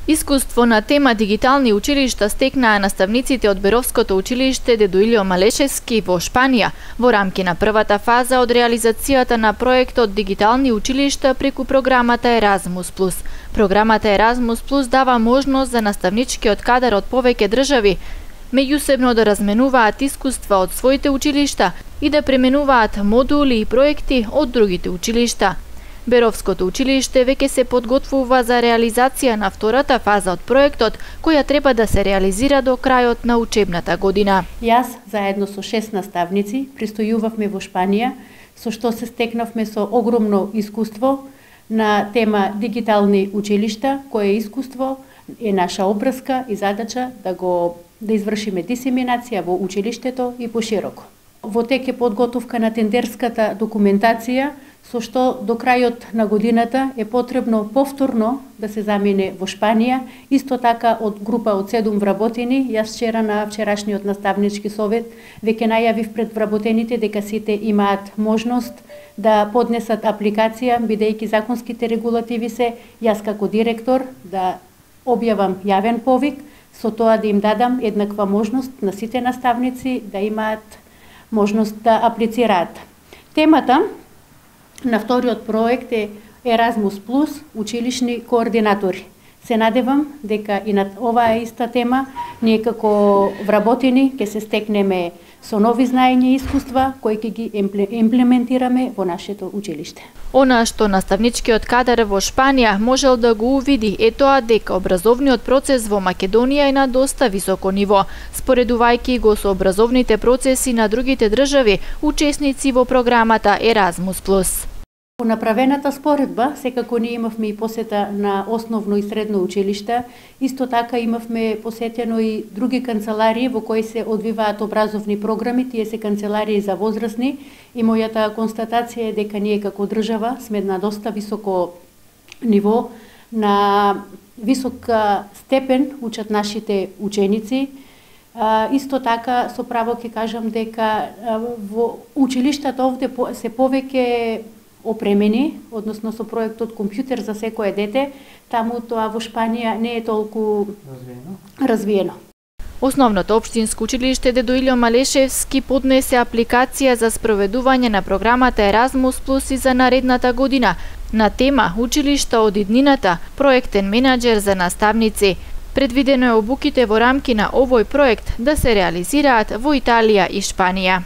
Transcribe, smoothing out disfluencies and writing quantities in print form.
Искуство на тема дигитални училишта стекнаа наставниците од Беровското училиште Дедо Илио Малешевски во Шпанија во рамки на првата фаза од реализацијата на проектот Дигитални училишта преку програмата Еразмус Плюс. Програмата Еразмус Плюс дава можност за наставничкиот кадар од повеќе држави меѓусебно да разменуваат искуства од своите училишта и да пременуваат модули и проекти од другите училишта. Беровското училиште веќе се подготвува за реализација на втората фаза од проектот, која треба да се реализира до крајот на учебната година. Јас, заедно со 6 наставници, пристојувавме во Шпанија, со што се стекнавме со огромно искуство на тема дигитални училишта, кое искуство е наша обврска и задача да извршиме дисеминација во училиштето и пошироко. Во тек е подготовка на тендерската документација, со што до крајот на годината е потребно повторно да се замине во Шпанија, исто така од група од 7 вработени. Јас вчера на вчерашниот наставнички совет веќе најавив пред вработените дека сите имаат можност да поднесат апликација, бидејќи законските регулативи се, јас како директор да објавам јавен повик, со тоа да им дадам еднаква можност на сите наставници да имаат можност да аплицираат. Темата на вториот проект е Еразмус Плюс, училишни координатори. Се надевам дека и на оваа иста тема ние како вработени ќе се стекнеме со нови знаења и искуства кои ќе ги имплементираме во нашето училиште. Она што наставничкиот кадар во Шпанија можел да го увиди е тоа дека образовниот процес во Македонија е на доста високо ниво, споредувајќи го со образовните процеси на другите држави, учесници во програмата Еразмус Плюс. По направената споредба, секако ние имавме и посета на основно и средно училишта, исто така имавме посетено и други канцеларии во кои се одвиваат образовни програми, тие се канцеларии за возрастни, и мојата констатација е дека ние како држава сме на доста високо ниво, на висока степен учат нашите ученици. Исто така со право ќе кажам дека во училиштата овде се повеќе опремени, односно со проектот Компјутер за секое дете, таму тоа во Шпанија не е толку развиено. Основното општинско училиште Дедо Илио Малешевски поднесе апликација за спроведување на програмата Еразмус Плюс и за наредната година на тема Училишта од иднината, проектен менаџер за наставници. Предвидено е обуките во рамки на овој проект да се реализираат во Италија и Шпанија.